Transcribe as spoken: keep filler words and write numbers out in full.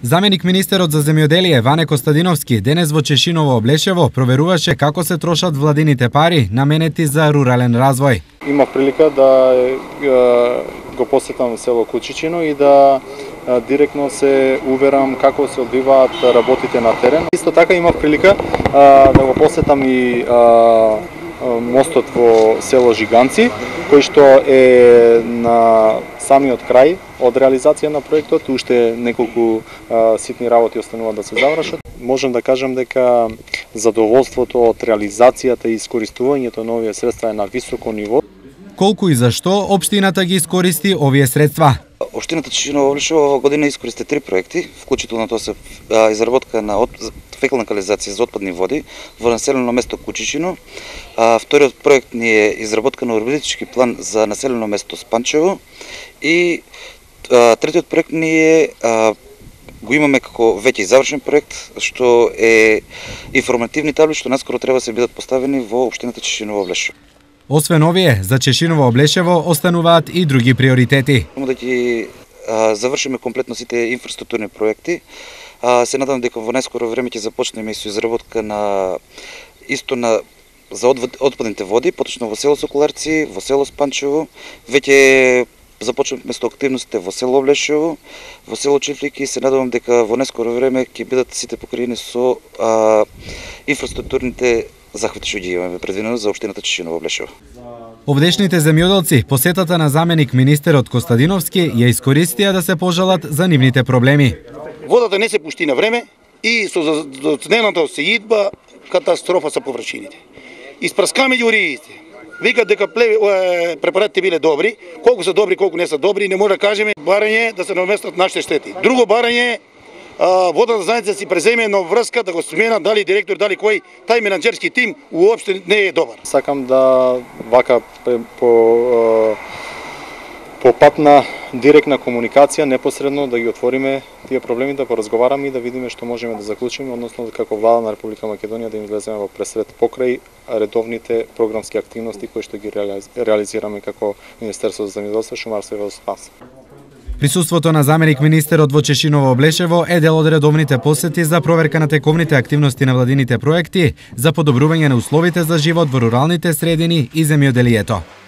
Заменик министерот за земјоделие Ване Костадиновски денес во Чешиново Облешево проверуваше како се трошат владините пари наменети за рурален развој. Имав прилика да го посетам село Кучичино и да директно се уверам како се одвиваат работите на терен. Исто така имав прилика да го посетам и мостот во село Жиганци, кој што е на самиот крај од реализација на проектот, уште неколку а, ситни работи остануваат да се завршат. Можам да кажам дека задоволството од реализацијата и искористувањето на овие средства е на високо ниво. Колку и зашто општината ги искористи овие средства? Општината Чешиново Облешево оваа година искористи три проекти, вклучително тоа се изработка на фекална канализација за отпадни води во населено место Кучичино. А, вториот проект ни е изработка на урбанистички план за населено место Спанчево и а, третиот проект ни е а, го имаме како веќе завршен проект, што е информативни табли што наскоро треба да се бидат поставени во општината Чешиново Облешево. Освен овие, за Чешиново Облешево остануваат и други приоритети. Да ги а, завршиме комплетно сите инфраструктурни проекти. А, се надам дека во најскоро време ќе започнеме и со изработка на исто на за отпадните води, поточно во село Соколарци, во село Спанчево. Веќе започнавме со активностите во село Облешево, во село Чифлики и се надевам дека во најскоро време ќе бидат сите покриени со а, инфраструктурните захвати што ги имаме предвидено за општината Чешиново Облешево. Овдешните земјоделци посетата на заменик министерот Костадиновски ја искористија да се пожалат за нивните проблеми. Водата не се пушти на време и со зацнената сеидба катастрофа со површините. Испраскаме ги уриите. Викат дека препаратите биле добри, колку се добри, колку не се добри, не може да кажеме барање да се наместат нашите штети. Друго барање водната заедница си преземе на врска да го смена дали директор, дали кој, тај менаџерски тим уопште не е добар. Сакам да вака по по пат на директна комуникација непосредно да ги отвориме тие проблеми, да поразговараме и да видиме што можеме да заклучиме, односно како влада на Република Македонија да им влеземе во пресред покрај редовните програмски активности кои што ги реализираме како Министерство за земјоделство, шумарство и водоснабдување. Присуството на заменик министерот во Чешиново Облешево е дел од редовните посети за проверка на тековните активности на владините проекти за подобрување на условите за живот во руралните средини и земјоделието.